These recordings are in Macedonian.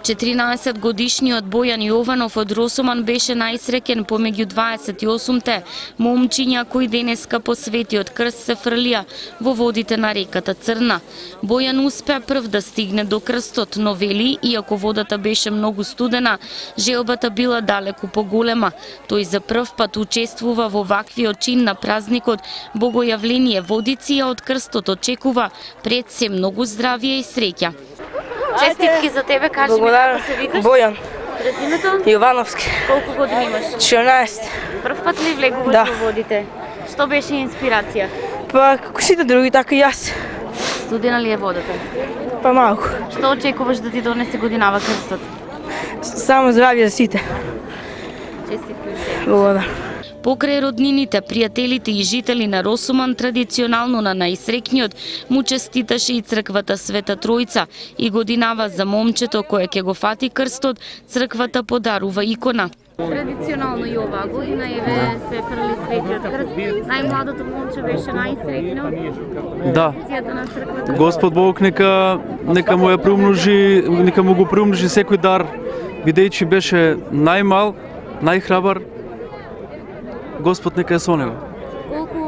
14-годишниот Бојан Јованов од Росоман беше најсреќен помеѓу 28-те момчиња кои денеска по Светиот крст се фрлија во водите на реката Црна. Бојан успеа прв да стигне до крстот, но вели, иако водата беше многу студена, желбата била далеку поголема. Тој за прв пат учествува во ваквиот чин на празникот Богојавление Водици, а од крстот очекува пред се многу здравје и среќа. Честитки за тебе, кажи ми како се викаш? Бојан. Презимето? Јовановски. Колку години имаш? 14. Прв пат ли влегуваш во водите? Што беше инспирација? Па како сите други, така и јас. Студена ли е водата? Па малку. Што очекуваш да ти донесе годинава крстот? Само здравје за сите. Честитки. Благодарам. Покрај роднините, пријателите и жители на Росоман, традиционално на најсреќниот му честиташе и црквата Света Тројца и годинава за момчето кое ќе го фати крстот, црквата подарува икона. Традиционално и оваа година се фрли Светиот крст. Најмладото момче беше најсреќно. Да. Господ Бог нека му ја приумножи, нека му го приумножи секој дар, бидејќи беше најмал, најхрабар. Господ нека е со него. Колку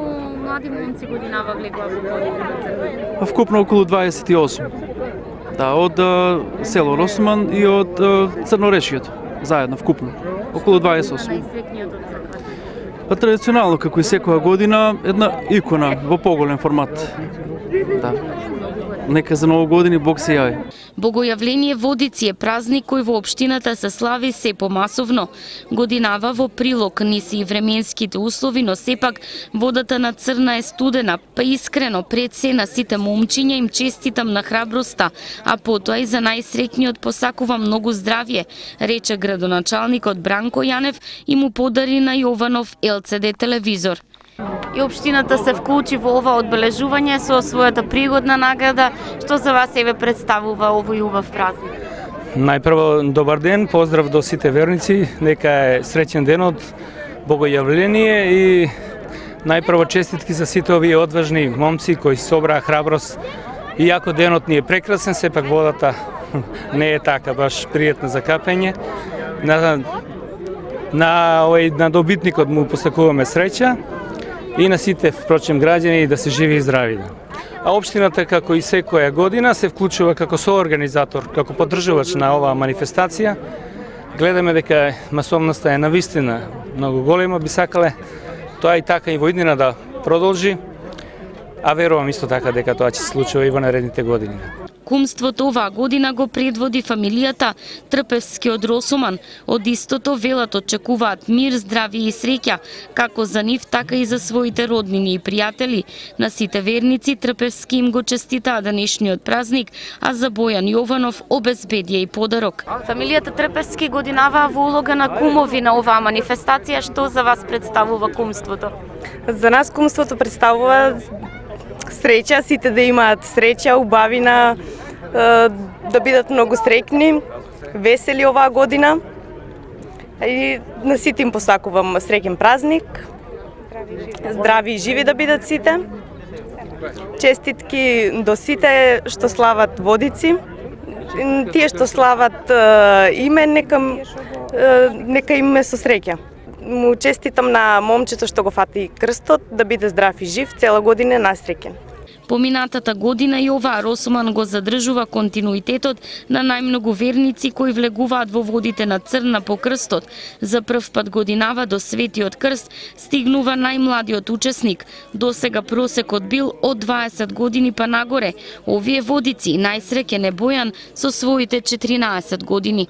млади момци годинава влегува во водите на Црна? Вкупно околу 28. Да, од село Росоман и од Црнорешието. Заедно, вкупно. Околу 28. Најсреќниот од црквата? Па традиционално, како и секоја година, една икона во поголем формат. Да. Нека за ново години Бог се јави. Богојавление Водици е празник кој во општината се слави се помасовно. Годинава во прилог низ и временските услови, но сепак водата на Црна е студена, па искрено пред се на сите момчиња им честитам на храброста, а потоа и за најсреќниот посакувам многу здравје, рече градоначалникот Бранко Јанев и му подари на Јованов LCD телевизор. И општината се вклучи во ова одбележување со својата пригодна награда. Што за вас себе представува овој убав празник? Најпрво добар ден, поздрав до сите верници, нека е среќен ден од Богојавление и најпрво честитки за сите овие одважни момци кои собраа храброст. Иако денот ни е прекрасен, сепак водата не е така баш пријатна за капење. На добитникот му посакуваме среќа и на сите, впрочем, граѓани да се живи и здрави. А општината, како и секоја година, се вклучува како соорганизатор, како поддржувач на оваа манифестација. Гледаме дека масовноста е навистина многу голема, би сакале тоа и така и во иднина да продолжи, а верувам исто така дека тоа ќе се случува и во наредните години. Кумството оваа година го предводи фамилијата Трпевски од Росоман. Од истото велат очекуваат мир, здравје и среќа, како за нив, така и за своите роднини и пријатели. На сите верници Трпевски им го честитаа денешниот празник, а за Бојан Јованов обезбедија и подарок. Фамилијата Трпевски годинава во улога на кумови на оваа манифестација. Што за вас представува кумството? За нас кумството представува среќа, сите да имаат среќа, убавина, да бидат многу среќни, весели оваа година. И на сите им посакувам среќен празник, здрави и живи да бидат сите. Честитки до сите што слават Водици. Тие што слават име, нека име со среќа. Му честитам на момчето што го фати крстот, да биде здрав и жив, цела година насреќен. Поминатата година и оваа Росоман го задржува континуитетот на најмногу верници кои влегуваат во водите на Црна по крстот. За прв пат годинава до Светиот крст стигнува најмладиот учесник. Досега просекот бил од 20 години па нагоре. Овие водици најсреќен е Бојан со своите 14 години.